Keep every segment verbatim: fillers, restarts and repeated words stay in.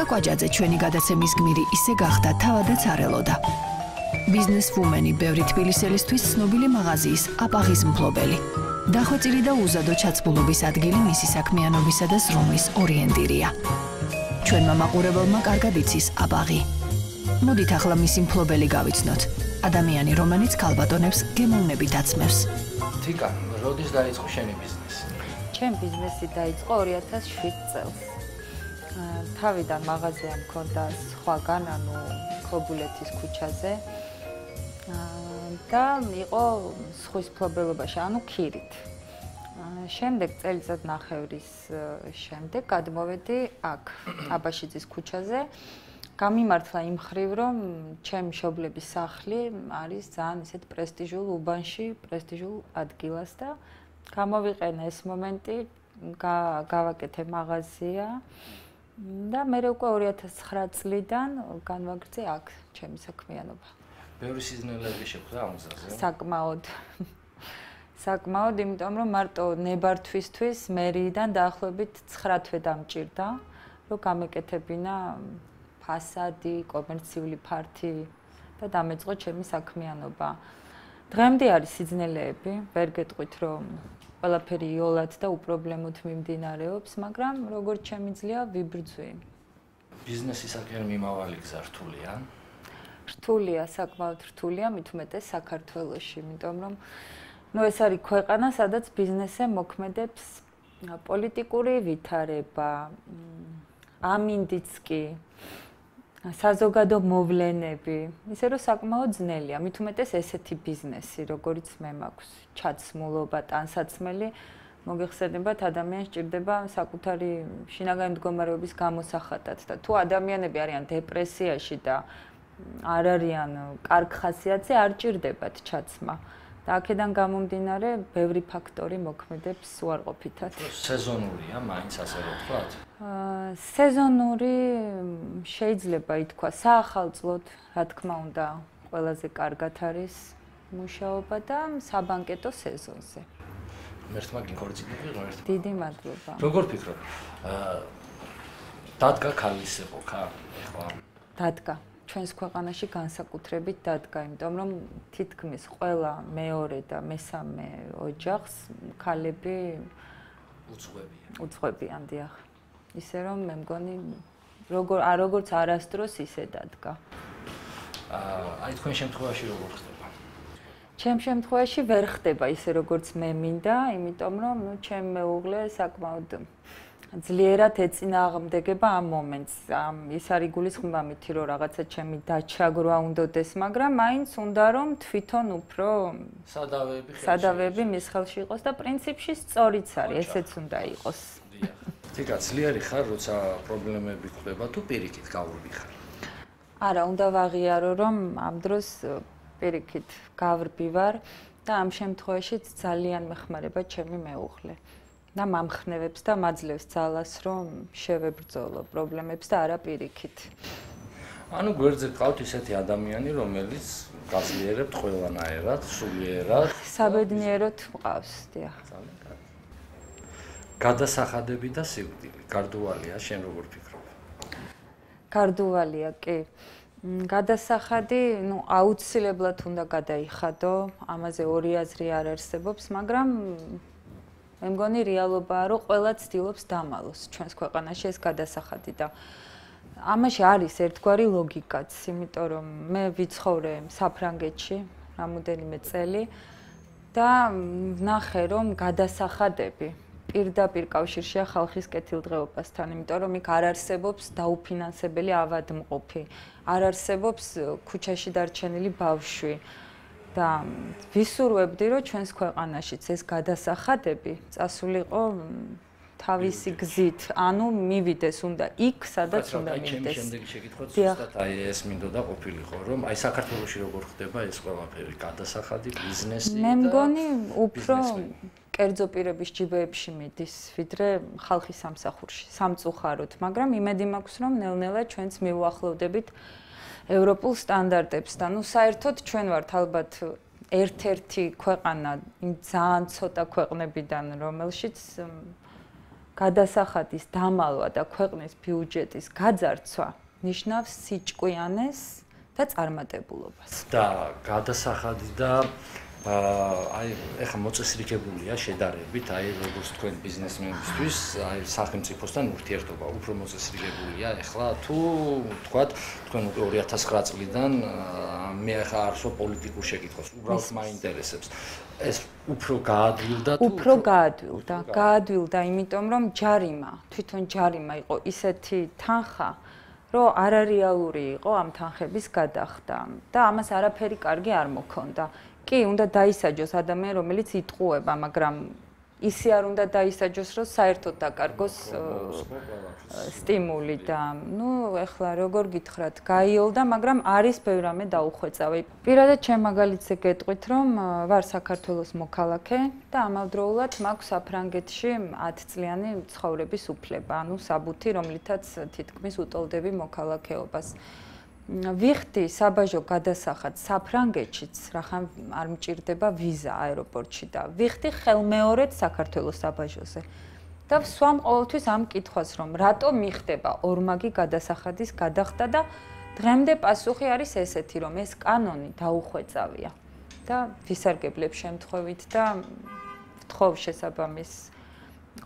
ლუდა კვაჯაძე ჩვენი გადაცემის გმირი ისე გახდა თავადაც არ ელოდა. ბიზნესვუმენი ბევრი თბილისელისთვის ცნობილი მაღაზიის აპაღის მფლობელი. დახვეწილი და უზადო ჩაცმულობის ადგილი მისი საქმიანობისა და ზრუნვის ორიენტირია. ჩვენმა მაყურებელმა კარგად იცის აპაღი. მოდით ახლა მისი მფლობელი გავიცნოთ. ადამიანი, რომელიც ქალბატონებს გემოვნებით აცმევს. თიკა, როდის დაიწყო შენი ბიზნესი? ჩემი ბიზნესი დაიწყო ორი ათას შვიდ წელს. თავიდან მაღაზია მქონდა სხვაგან, ანუ ქობულეთის ქუჩაზე. და იყო ზღვის მფლობელობაში, ანუ ქირით. შემდეგ წელიწად ნახევრის შემდეგ გადმოვედი აქ, აბაშიძის ქუჩაზე. გამიმართლა იმ ხრივ, რომ ჩემი მშობლების სახლი არის ძალიან ისეთ პრესტიჟულ უბანში, პრესტიჟულ ადგილას და გამოვიყენე ეს მომენტი, გავაკეთე მაღაზია და მე უკვე ორი ათას ცხრა წლიდან განვაგრძე აქ ჩემი საქმიანობა. ბევრი სიზნელეები შეხვდა ამ გზაზე? საკმაოდ. საკმაოდ, იმიტომ რომ მარტო ნებართვისთვის მერიიდან დაახლოებით ცხრა თვე დამჭირდა, რომ გამეკეთებინა ფასადი, კომერციული ფართი და დამეწყო ჩემი საქმიანობა. დღემდე არის სიძნელეები, ვერ გეტყვით, რომ ყველაფერი იოლად და უპრობლემოდ მიმდინარეობს, მაგრამ როგორც შემიძლია ვიბრძვი. ბიზნესისაკენ მიმავალი გზა რთულია? რთულია, საკმაოდ რთულია, მით უმეტეს საქართველოში, იმიტომ რომ ნუ ეს არის ქვეყანა, სადაც ბიზნესზე მოქმედებს პოლიტიკური ვითარება, ამინდიც კი, საზოგადო მოვლენები, ისე რომ საკმაოდ ძნელია, მით უმეტეს ესეთი ბიზნესი, როგორც მე მაქვს, ჩაცმულობა, ტანსაცმელი, მოგეხსენებათ, ადამიანს სჭირდება საკუთარი შინაგანი მდგომარეობის გამოსახატად და თუ ადამიანები არიან დეპრესიაში და არ არიან კარგ ხასიათზე, არ ჭირდებათ ჩაცმა. და აქედან გამომდინარე, ბევრი ფაქტორი მოქმედებს უარყოფითად. სეზონურია, მაინც ასე რომ ვთქვათ? სეზონური შეიძლება ითქვა, საახალწლოდ, რა თქმა უნდა, ყველაზე კარგად არის მუშაობა და საბანკეტო სეზონზე. მერთმა გიქორწინე ღმერთმა. დიდი მადლობა. როგორ ფიქრობ? დადგა ქალისეყო ხა? ეხლა დადგა. ჩვენს ქვეყანაში განსაკუთრებით დადგა, იმიტომ რომ თითქმის ყველა მეორე და მესამე ოჯახს ქალები უძღვებიან. უძღვებიან, დიახ. ისე რომ მე მგონი როგორ როგორც არასდროს ისე დადგა. აი თქვენ შემთხვევაში როგორ ხდება? ჩემ შემთხვევაში ვერ ხდება ისე როგორც მე მინდა, იმიტომ რომ ნუ ჩემ მეუღლე საკმაოდ ძლიერად ეწინააღმდეგება ამ მომენტს. ის არის გულისხმობა მითი, რომ რაღაცა ჩემი დაჩაგრვა უნდოდეს, მაგრამ მაინც უნდა რომ თვითონ უფრო სადავეები სადავეები მის ხელში იყოს და პრინციპში სწორიც არის, ესეც უნდა იყოს. თიკა, ძლიერი ხარ, როცა პრობლემები ხდება, თუ პირიქით გავრბი ხარ? არა, უნდა ვაღიარო, რომ ამ დროს პირიქით გავრბი ვარ და ამ შემთხვევაში ძალიან მეხმარება ჩემი მეუღლე. და მამხნევებს და მაძლევს ძალას, რომ შევებრძოლო პრობლემებს და არა პირიქით. ანუ გვერდზე გყავთ ისეთი ადამიანი, რომელიც გაძლიერებთ ყველანაირად, სულიერად. საბედნიეროდ მყავს, დიახ. გადასახადები და სიკვდილი, გარდუვალია, შენ როგორ ფიქრობ? გარდუვალია, კი. გადასახადი, ნუ აუცილებლად უნდა გადაიხადო, ამაზე ორი აზრი არ არსებობს, მაგრამ მე მგონი რეალობაა, რომ ყველა ცდილობს დამალოს ჩვენს ქვეყანაში ეს გადასახადი და ამაში არის ერთგვარი ლოგიკაც, იმიტომ რომ მე ვიცხოვრე საფრანგეთში რამოდენიმე წელი და ვნახე, რომ გადასახადები პირდაპირ კავშირშია ხალხის კეთილდღეობასთან, იმიტომ რომ იქ არ არსებობს დაუფინანსებელი ავადმყოფი, არ არსებობს ქუჩაში დარჩენილი ბავშვი. და ვისურვებდი, რომ ჩვენს ქვეყანაშიც ეს გადასახადები წასულიყო თავისი გზით, ანუ მივიდეს უნდა იქ, სადაც უნდა მივიდეს. ჩემი შემდეგი შეკითხვაც ზუსტად აი ეს მინდოდა ყოფილიყო, რომ აი საქართველოში როგორ ხდება ეს ყველაფერი, გადასახადი, ბიზნესი და მე მგონი უფრო კერძო პირების ჯიბეებში მიდის, ვიდრე ხალხის სამსახურში, სამწუხაროდ, მაგრამ იმედი მაქვს, რომ ნელ-ნელა ჩვენც მივუახლოვდებით ევროპულ სტანდარტებს და ნუ საერთოდ ჩვენ ვართ ალბათ ერთ-ერთი ქვეყანა იმ ძალიან ცოტა ქვეყნებიდან, რომელშიც გადასახადის დამალვა და ქვეყნის ბიუჯეტის გაძარცვა ნიშნავს სიჭკვიანეს და წარმატებულობას. და გადასახადი და აი ეხლა მოწესრიგებულია შედარებით, აი როგორც თქვენ ბიზნესმენებისთვის, აი სახელმწიფოსთან ურთიერთობა უფრო მოწესრიგებულია ეხლა თუ თქვათ თქვენ ორი ათას ცხრა წლიდან მე ახლა არსო პოლიტიკურ შეკითხვას, უბრალოდ მაინტერესებს. ეს უფრო გაადვილდა თუ უფრო გაადვილდა, გაადვილდა, იმიტომ რომ ჯარიმა, თვითონ ჯარიმა იყო ისეთი თანხა, რომ არარეალური იყო ამ თანხების გადახდა და ამას არაფერი კარგი არ მოქონდა. კი, უნდა დაისაჯოს ადამიანი, რომელიც იტყუება, მაგრამ ისე არ უნდა დაისაჯოს, რომ საერთოდ დაკარგოს სტიმული და ნუ ეხლა როგორ გითხრათ, გაიოლდა, მაგრამ არის ბევრ რამე დაუხვეწავი. პირადად ჩემ მაგალითზე გეტყვით, რომ ვარ საქართველოს მოქალაქე და ამავდროულად მაქვს საფრანგეთში ათი წლიანი ცხოვრების უფლება, ანუ საბუთი, რომლითაც თითქმის უტოლდები მოქალაქეობას. ვიხდი საბაჟო გადასახადს საფრანგეთშიც, რახან არ მჭირდება ვიზა აეროპორტში და ვიხდი ხელმეორედ საქართველოს საბაჟოზე. და ვსვამ ყოველთვის ამ კითხვას, რომ რატო მიხდება ორმაგი გადასახადის გადახდა და დღემდე პასუხი არის ესეთი, რომ ეს კანონი დაუხვეწავია და ვისარგებლებ შემთხვევით და ვთხოვ შესაბამის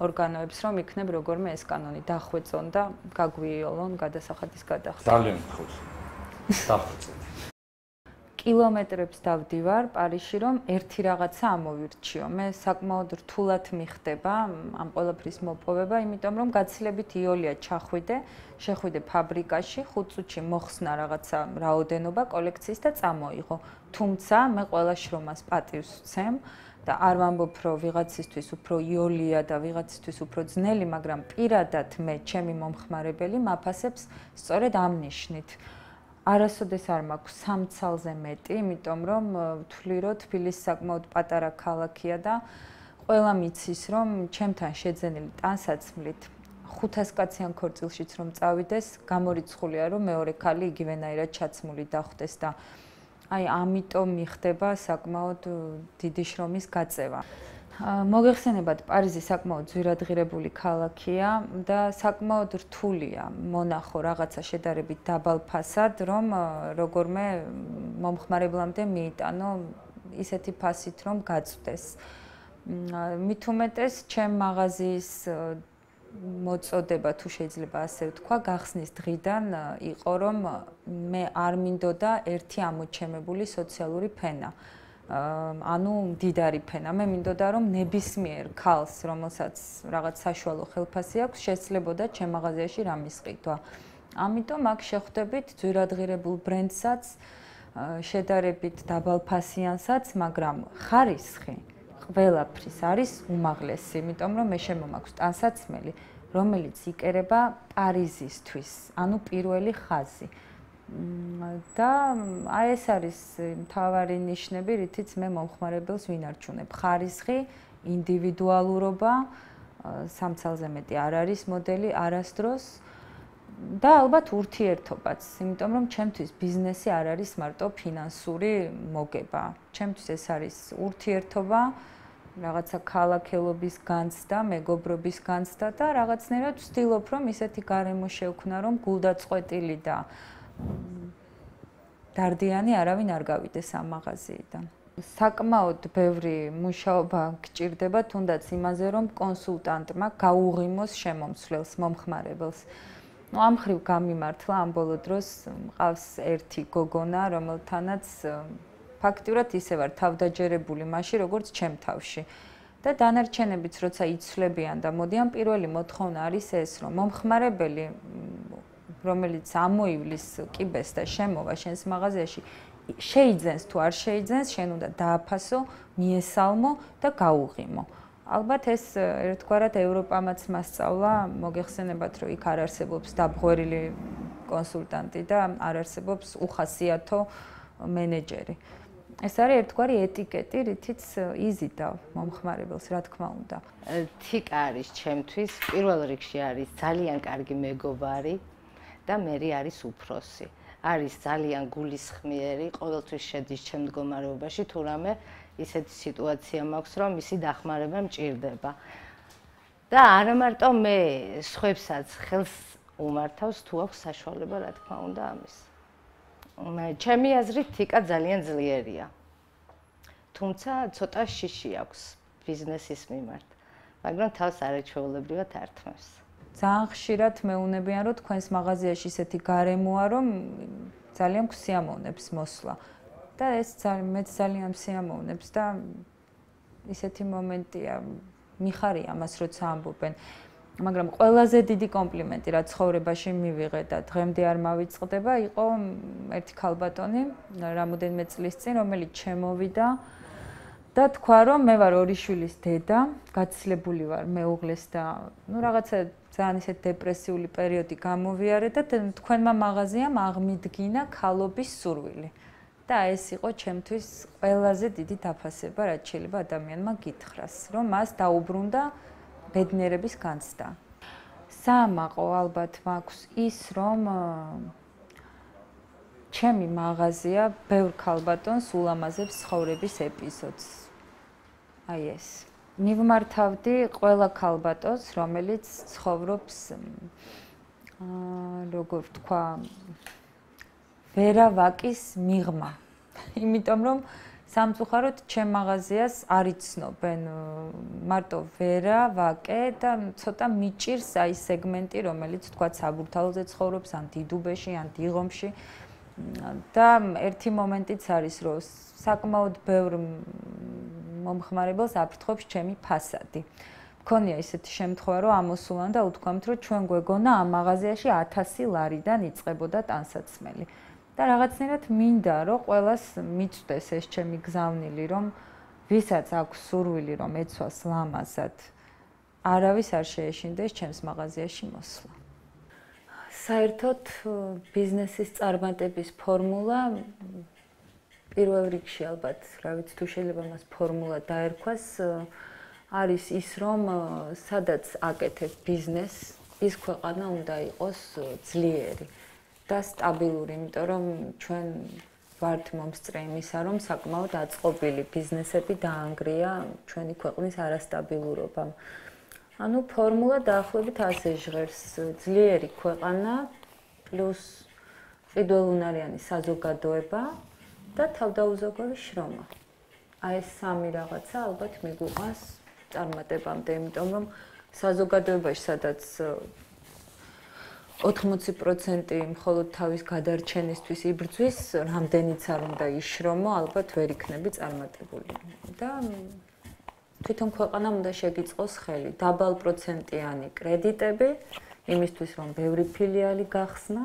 ორგანოებს, რომ იქნებ როგორმე ეს კანონი დახვეწონ და გაგვიოლონ გადასახადის გადახდა. ძალიან ხუთ. დახვეწეთ. კილომეტრებს დავდივარ პარიზში, რომ ერთი რაღაცა ამოვირჩიო. მე საკმაოდ რთულად მიხდება ამ ყველაფრის მოპოვება, იმიტომ რომ გაცილებით იოლია ჩახვიდე, შეხვიდე ფაბრიკაში, ხუთ წუთში მოხსნა რაღაცა რაოდენობა კოლექციის და წამოიღო. თუმცა მე ყველა შრომას პატივს ვცემ და არ ვამბობ, რომ ვიღაცისთვის უფრო იოლია და ვიღაცისთვის უფრო ძნელი, მაგრამ პირადად მე ჩემი მომხმარებელი მაფასებს სწორედ ამ ნიშნით. არასოდეს არ მაქვს სამ ცალზე მეტი, იმიტომ რომ ვთვლი, რომ თბილისი საკმაოდ პატარა ქალაქია და ყველა მიცის, რომ ჩემთან შეძენილი ტანსაცმლით ხუთას კაციან ქორწილშიც რომ წავიდეს, გამორიცხულია, რომ მეორე ქალი იგივენაირად ჩაცმული დახვდეს და აი ამიტომ მიხდება საკმაოდ დიდი შრომის გაწევა. მოგეხსენებათ, პარიზი საკმაოდ ძვირადღირებული ქალაქია და საკმაოდ რთულია მონახო რაღაცა შედარებით დაბალ ფასად, რომ როგორმე მომხმარებლამდე მიიტანო ისეთი ფასით, რომ გაწვდეს. მით უმეტეს, ჩემ მაღაზიის მოწოდება, თუ შეიძლება ასე ვთქვა, გახსნის დღიდან იყო, რომ მე არ მინდოდა ერთი ამოჩემებული სოციალური ფენა. ანუ მდიდარი ფენა. მე მინდოდა, რომ ნებისმიერ ქალს, რომელსაც რაღაც საშუალო ხელფასი აქვს, შესაძლებოდა ჩემ მაღაზიაში რამის ყიდვა. ამიტომ აქ შეხვდებით ძვირადღირებულ ბრენდსაც, შედარებით დაბალფასიანსაც, მაგრამ ხარისხი ყველაფრის არის უმაღლესი, იმიტომ რომ მე შემომაქვს ტანსაცმელი, რომელიც იკერება პარიზისთვის, ანუ პირველი ხაზი. და აი ეს არის მთავარი ნიშნები, რითიც მე მომხმარებელს ვინარჩუნებ. ხარისხი, ინდივიდუალურობა, სამ ცალზე მეტი არ არის მოდელი არასდროს და ალბათ ურთიერთობაც, იმიტომ რომ ჩემთვის ბიზნესი არ არის მარტო ფინანსური მოგება. ჩემთვის ეს არის ურთიერთობა, რაღაცა ქალაქელობის განცდა, მეგობრობის განცდა და რაღაცნაირად ვცდილობ, რომ ისეთი გარემო შევქმნა, რომ გულდაწყვეტილი და დარდიანი არავინ არ გავიდეს ამ მაღაზიიდან. საკმაოდ ბევრი მუშაობა გჭირდება, თუნდაც იმაზე, რომ კონსულტანტმა გაუღიმოს შემომცვლელს, მომხმარებელს. ნუ ამ ხრივ გამიმართლა ამ ბოლო დროს მყავს ერთი გოგონა, რომელთანაც ფაქტიურად ისე ვარ თავდაჯერებული მასში, როგორც ჩემ თავში. და დანარჩენებიც როცა იცვლებიან და მოდიან, პირველი მოთხოვნა არის ეს, რომ მომხმარებელი რომელიც ამოივლის კიბეს და შემოვა შენს მაღაზიაში, შეიძენს თუ არ შეიძენს, შენ უნდა დააფასო, მიესალმო და გაუღიმო. ალბათ ეს ერთგვარად ევროპამაც მასწავლა, მოგეხსენებათ, რომ იქ არ არსებობს დაბღვერილი კონსულტანტი და არ არსებობს უხასიათო მენეჯერი. ეს არის ერთგვარი ეტიკეტი, რითიც იზიდავ მომხმარებელს, რა თქმა უნდა. თიკა არის ჩემთვის, პირველ რიგში არის ძალიან კარგი მეგობარი და მერი არის უფროსი. არის ძალიან გულისხმიერი, ყოველთვის შედის ჩემ მდგომარეობაში, თუ რამე ისეთი სიტუაცია მაქვს, რომ მისი დახმარება მჭირდება. და არა მარტო მე სხვებსაც ხელს უმართავს თუ აქვს საშუალება, რა თქმა უნდა, ამის. ჩემი აზრით თიკა ძალიან ძლიერია. თუმცა ცოტა შიში აქვს ბიზნესის მიმართ, მაგრამ თავს არაჩვეულებრივად ართმევს. ძალიან ხშირად მეუნებიან, რომ თქვენს მაღაზიაში ისეთი გარემოა, რომ ძალიან გვსიამოვნებს მოსვლა. და ეს მეც ძალიან მსიამოვნებს და ისეთი მომენტია, მიხარია ამას, როცა ამბობენ. მაგრამ ყველაზე დიდი კომპლიმენტი, რაც ცხოვრებაში მივიღე და დღემდე არ მავიწყდება, იყო ერთი ქალბატონი, რამოდენიმე წლის წინ, რომელიც ჩემოვიდა და თქვა, რომ მე ვარ ორი შვილის დედა, გაცილებული ვარ მეუღლეს და ნუ რაღაცა ძალიან ისეთ დეპრესიული პერიოდი გამოვიარე და თქვენმა მაღაზიამ აღმიდგინა ქალობის სურვილი. და ეს იყო ჩემთვის ყველაზე დიდი დაფასება, რაც შეიძლება ადამიანმა გითხრას, რომ მას დაუბრუნდა ბედნიერების განცდა. საამაყო ალბათ მაქვს ის, რომ ჩემი მაღაზია ბევრ ქალბატონს ულამაზებს ცხოვრების ეპიზოდს. აი ეს. მივმართავდი ყველა ქალბატონს, რომელიც ცხოვრობს აა როგორ ვთქვა, ვერავაკის მიღმა. იმიტომ რომ სამწუხაროდ ჩემ მაღაზიას არ იცნობენ მარტო ვერა, ვაკე და ცოტა მიჭირს აი სეგმენტი, რომელიც თქვა საბურთალოზე ცხოვრობს, ან დიდუბეში, ან დიღომში. და ერთი მომენტიც არის, რომ საკმაოდ ბევრ მომხმარებელს აფრთხობს ჩემი ფასადი. მქონია ისეთი შემთხვევა, რომ ამოსულან და უთქვამთ, რომ ჩვენ გვეგონა ამ მაღაზიაში ათასი ლარიდან იწყებოდა ტანსაცმელი. და რაღაცნაირად მინდა, რომ ყველას მიწვდეს ეს ჩემი გზავნილი, რომ ვისაც აქვს სურვილი, რომ ეცვას ლამაზად, არავის არ შეეშინდეს ჩემს მაღაზიაში მოსვლა. საერთოდ ბიზნესის წარმატების ფორმულა პირველ რიგში ალბათ, რა ვიცი, თუ შეიძლება მას ფორმულა დაერქვას, არის ის, რომ სადაც აკეთებ ბიზნესს, ის ქვეყანა უნდა იყოს ძლიერი და სტაბილური, იმიტომ რომ ჩვენ ვართ მომსწრე იმისა, რომ საკმაოდ აწყობილი ბიზნესები დაანგრია ჩვენი ქვეყნის არასტაბილურობამ. ანუ ფორმულა დაახლოებით ასე ჟღერს: ძლიერი ქვეყანა პლუს ყიდველუნარიანი საზოგადოება და თავდაუზოგავი შრომა. აი ეს სამი რაღაცა ალბათ მიგვიყვანს წარმატებამდე, იმიტომ რომ საზოგადოებაში სადაც ოთხმოცი პროცენტი მხოლოდ თავის გადარჩენისთვის იბრძვის, რამდენიც არ უნდა იშრომო, ალბათ ვერ იქნები წარმატებული. და თვითონ ქვეყანამ უნდა შეგიწყოს ხელი, დაბალპროცენტიანი კრედიტები, იმისთვის რომ ბევრი ფილიალი გახსნა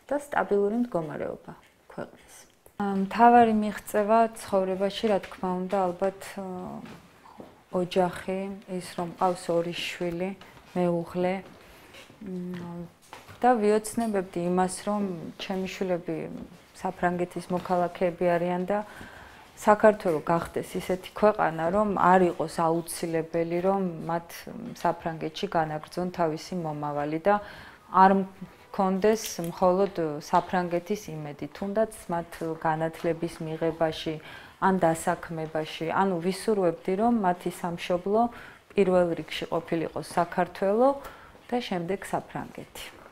და სტაბილური მდგომარეობა ქვეყნის. მთავარი მიღწევა ცხოვრებაში, რა თქმა უნდა, ალბათ ოჯახი, ის რომ ყავს ორი შვილი, მეუღლე და ვიოცნებებდი იმას, რომ ჩემი შვილები საფრანგეთის მოქალაქეები არიან და საქართველო გახდეს ისეთი ქვეყანა, რომ არ იყოს აუცილებელი, რომ მათ საფრანგეთში განაგრძონ თავისი მომავალი და არ მქონდეს მხოლოდ საფრანგეთის იმედი, თუნდაც მათ განათლების მიღებაში, ან დასაქმებაში, ანუ ვისურვებდი, რომ მათი სამშობლო პირველ რიგში ყოფილიყო საქართველო და შემდეგ საფრანგეთი.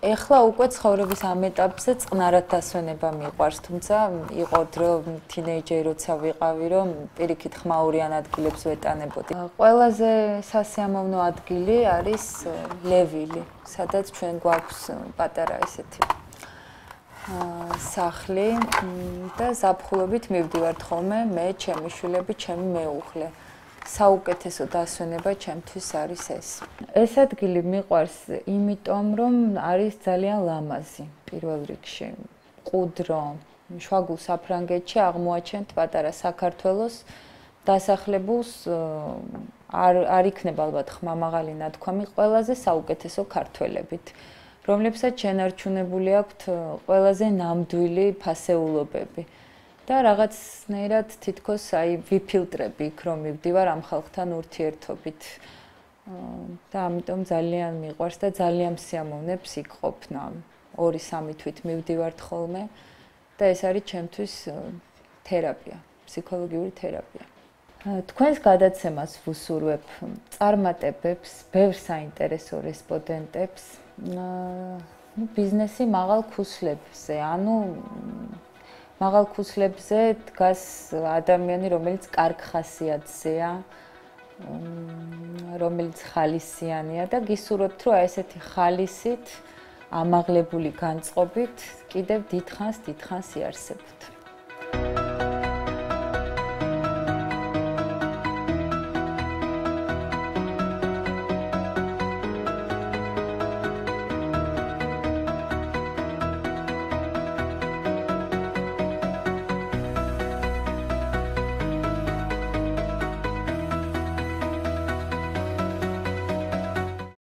ეხლა უკვე ცხოვრების ამ ეტაპზე წყნარად დასვენება მიყვარს, თუმცა იყო დრო თინეიჯერი როცა ვიყავი, რომ პირიქით ხმაურიან ადგილებს ვეტანებოდი. ყველაზე სასიამოვნო ადგილი არის ლევილი, სადაც ჩვენ გვაქვს პატარა ესეთი სახლი და ზაფხულობით მივდივართ ხოლმე მე, ჩემი შვილები, ჩემი მეუღლე. საუკეთესო დასვენება ჩემთვის არის ეს. ეს ადგილი მიყვარს იმიტომ, რომ არის ძალიან ლამაზი პირველ რიგში. მყუდრო, შვაგულ საფრანგეთში აღმოაჩენთ პატარა საქართველოს დასახლებულს არ არ იქნება ალბათ ხმამაღალი ნათქვამი ყველაზე საუკეთესო ქართველებით, რომლებსაც შენარჩუნებული აქვთ ყველაზე ნამდვილი ფასეულობები. და რაღაცნაირად თითქოს აი ვიფილტრები იქ რომ მივდივარ ამ ხალხთან ურთიერთობით. და ამიტომ ძალიან მიყვარს და ძალიან მსიამოვნებს იქ ყოფნა. ორი სამი თვით მივდივართ ხოლმე და ეს არის ჩემთვის თერაპია, ფსიქოლოგიური თერაპია. თქვენს გადაცემას ვუსურვებ წარმატებებს, ბევრ საინტერესო რესპონდენტებს, ну ბიზნესი მაღალ ქუსლებზე, ანუ მაღალ ქუსლებზე დგას ადამიანი, რომელიც კარგ ხასიათზეა, რომელიც ხალისიანია და გისურვებთ, რომ ესეთი ხალისით, ამაღლებული განწყობით კიდევ დიდხანს, დიდხანს იარსებოთ.